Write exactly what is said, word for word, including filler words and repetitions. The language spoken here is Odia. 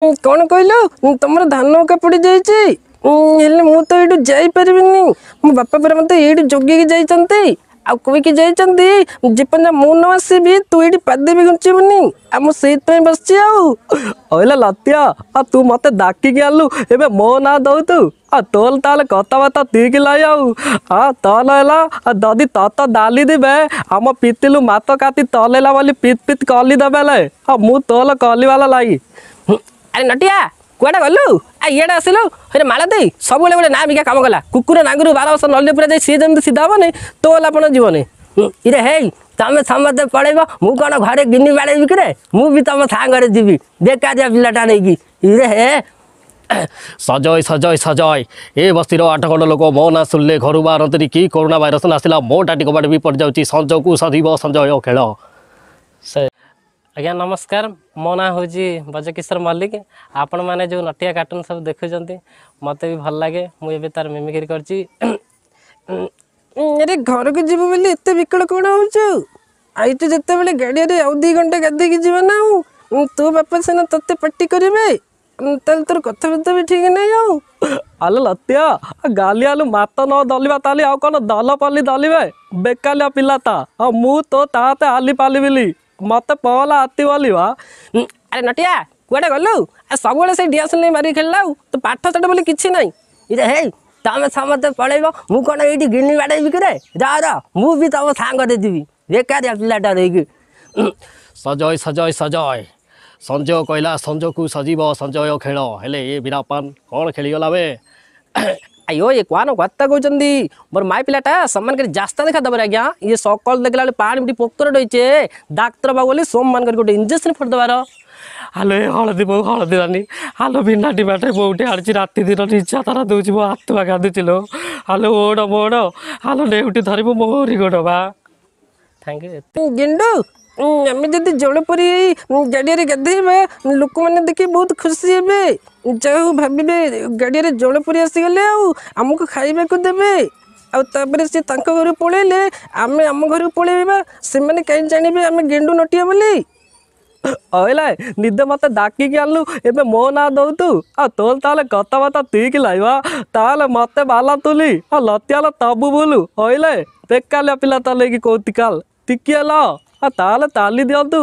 କ'ଣ କହିଲୁ? ତମର ଧାନ କାପୁଡ଼ି ଯାଇଛି, ହେଲେ ମୁଁ ତ ଏଇଠୁ ଯାଇପାରିବିନି। ମୋ ବାପା ପରା ମୋତେ ଏଇଠି ଜଗିକି ଯାଇଛନ୍ତି, ଆଉ କହିକି ଯାଇଛନ୍ତି ଯେପର୍ଯ୍ୟନ୍ତ ମୁଁ ନ ଆସିବି ତୁ ଏଇଠି ପାଦେ ବି ଘୁଞ୍ଚିବୁନି। ଆଉ ମୁଁ ସେଇଥିପାଇଁ ବସିଛି। ଆଉ କହିଲା ଲତିଆ, ଆଉ ତୁ ମୋତେ ଡାକିକି ଆଣିଲୁ, ଏବେ ମୋ ନାଁ ଦଉ ତୁ? ଆଉ ତୋର ତାହେଲେ କଥାବାର୍ତ୍ତା ତିକି ଲାଇ। ଆଉ ହଁ ତଲ ହେଲା, ଆଉ ଯଦି ତତ ଡାଲି ଦିବେ ଆମ ପିତିଲୁ ମାତ କାତି ତଲେଲା ବୋଲି ପିତ ପିତ କଲି ଦେବେ। ଆଉ ମୁଁ ତୋଲ କଲିବାଲା ଲାଗି। ଆରେ ନଟିଆ, କୁଆଡ଼େ ଗଲୁ? ଆ ଇଆଡ଼େ ଆସିଲୁ। ହେରେ ମାଳତୀ ସବୁବେଳେ ଗୋଟେ ନା ବିକା କାମ କଲା। କୁକୁର ନାଙ୍ଗୁରୁ ବାର ବର୍ଷ ନଳିରେ ପୁରା ଯାଇ ସିଏ ଯେମିତି ସିଧା ହବନି, ତୋ ଆପଣ ଯିବନି। ଇରେ ହେଇ, ତମେ ସମସ୍ତେ ପଳେଇବ, ମୁଁ କ'ଣ ଘରେ ଗିନି ବାଡ଼େଇବି କିରେ? ମୁଁ ବି ତମ ସାଙ୍ଗରେ ଯିବି, ବେକାରିଆ ପିଲାଟା ନେଇକି। ଇରେ ହେ। ସଜୟ ସଜୟ ସଜୟ, ଏ ବସ୍ତିର ଆଠ ଖଣ୍ଡ ଲୋକ ମୋ ନାଁ ଶୁଣିଲେ ଘରୁ ବାହାରନ୍ତିନି। କି କରୋନା ଭାଇରସ ଆସିଲା, ମୋ ଟାଟି କବାଟ ବି ପଡ଼ିଯାଉଛି। ସଞ୍ଜକୁ ସଜିବ ସଞ୍ଜୟ ଖେଳ ସେ। ଆଜ୍ଞା ନମସ୍କାର, ମୋ ନାଁ ହେଉଛି ବ୍ରଜକିଶୋର ମଲ୍ଲିକ। ଆପଣମାନେ ଯେଉଁ ନଟିଆ କାର୍ଟୁନ୍ ସବୁ ଦେଖୁଛନ୍ତି, ମୋତେ ବି ଭଲ ଲାଗେ। ମୁଁ ଏବେ ତାର ମିମିକ୍ରି କରିଛି। ଆରେ ଘରକୁ ଯିବୁ ବୋଲି ଏତେ ବିକଳ କ'ଣ ହେଉଛୁ? ଆଇଛୁ ଯେତେବେଳେ ଗାଡ଼ିଆରେ ଆଉ ଦୁଇ ଘଣ୍ଟା ଗାଧେଇକି ଯିବା ନା। ଆଉ ତୋ ବାପା ସିନା ତୋତେ ପାଟି କରିବେ, ତାହେଲେ ତୋର କଥାବାର୍ତ୍ତା ବି ଠିକ୍ ନାହିଁ। ଆଉ ଆଲୋ ଲତିଆ, ଗାଲି ଆଲୁ ମାତ ନ ଦଲିବା ତାଲି ଆଉ କ'ଣ ଦଲ ପଲି ଦଲିବେ? ବେକାଲିଆ ପିଲା ତା। ଆଉ ମୁଁ ତୋ ତାତେ ଆଲି ପାଲିବିଲି, ମତେ ପହଲା ଆତି ବୋଲିବା। ଆରେ ନଟିଆ, କୁଆଡ଼େ ଗଲୁ? ଆଉ ସବୁବେଳେ ସେଇ ଡିଆସିଲ ନେଇ ମାରିକି ଖେଳିଲା, ଆଉ ତୋ ପାଠ ସାଠ ବୋଲି କିଛି ନାହିଁ। ଇରେ ହେଇ, ତମେ ସମସ୍ତେ ପଳେଇବ, ମୁଁ କ'ଣ ଏଇଠି ଗିନି ବାଡ଼େଇବି କିରେ? ଯା ର, ମୁଁ ବି ତମ ସାଙ୍ଗରେ ଯିବି, ବେକାରିଆ ପିଲାଟା ନେଇକି। ସଜୟ ସଜୟ ସଜୟ, ସଞ୍ଜୟ କହିଲା ସଞ୍ଜକୁ ସଜିବ ସଞ୍ଜୟ ଖେଳ। ହେଲେ ଏ ବୀରାପାନ କ'ଣ ଖେଳିଗଲା ବେ? ଆಯ್ୟೋ, ଏ କ'ଣ କଥା କହୁଛନ୍ତି? ମୋର ମାଇ ପିଲାଟା ସମ୍ମାନ କରି ଜାସ୍ତା ଦେଖା ଦେବରେ ଆଜ୍ଞା। ଇଏ ସକାଳୁ ଦେଖିଲା ବେଳେ ପାଣି ପିଟି ପୋକର ରହିଛେ, ଡାକ୍ତର ବାବୁ ବୋଲି ସୋମମାନ କରି ଗୋଟେ ଇଞ୍ଜେକ୍ସନ ଫୋଡ଼ି ଦେବାର। ହାଲୋ ଏ ହଳଦୀ ବୋଉ, ହଳଦୀ ରାନୀ, ହାଲୋ ଭିନା ଡିମାଟେ ବୋଉଟେ ଆଣିଛି, ରାତି ଦିନ ନିଜା ତାରା ଦେଉଛି, ମୋ ଆତ୍ମା କାନ୍ଦୁଛି ଲୋ। ହାଲୋ ଓଡ଼ ମୋଡ଼, ହାଲୋ ନେଉଟି ଧରିବୁ ମୋରି ଗୋଡ଼ ବା। Thank you. ଗେଣ୍ଡୁ, ଆମେ ଯଦି ଜଳପରି ଏଇ ଗାଡ଼ିଆରେ ଗାଧେଇବା, ଲୋକମାନେ ଦେଖି ବହୁତ ଖୁସି ହେବେ। ଯାହା ହଉ ଭାବିବେ ଗାଡ଼ିଆରେ ଜଳପରି ଆସିଗଲେ, ଆଉ ଆମକୁ ଖାଇବାକୁ ଦେବେ। ଆଉ ତାପରେ ସେ ତାଙ୍କ ଘରକୁ ପଳେଇଲେ ଆମେ ଆମ ଘରକୁ ପଳେଇବା, ସେମାନେ କାହିଁ ଜାଣିବେ ଆମେ ଗେଣ୍ଡୁ ନଟିଆ ବୋଲି। କହିଲା ନିଦ ମତେ ଡାକିକି ଆଣିଲୁ, ଏବେ ମୋ ନାଁ ଦଉ ତୁ? ଆଉ ତୋର ତାହେଲେ କଥାବାର୍ତ୍ତା ତିକି ଲାଇବା, ତାହେଲେ ମତେ ବାଲା ତୁଲି ଆଉ ଲତିଆଲ ତବୁ ବୁଲୁ। କହିଲେ ବେକାଲିଆ ପିଲା ତ ନେଇକି କହୁତି କାଲ ଟିକିଏ ଲ, ଆଉ ତାହେଲେ ତାଲି ଦିଅନ୍ତୁ।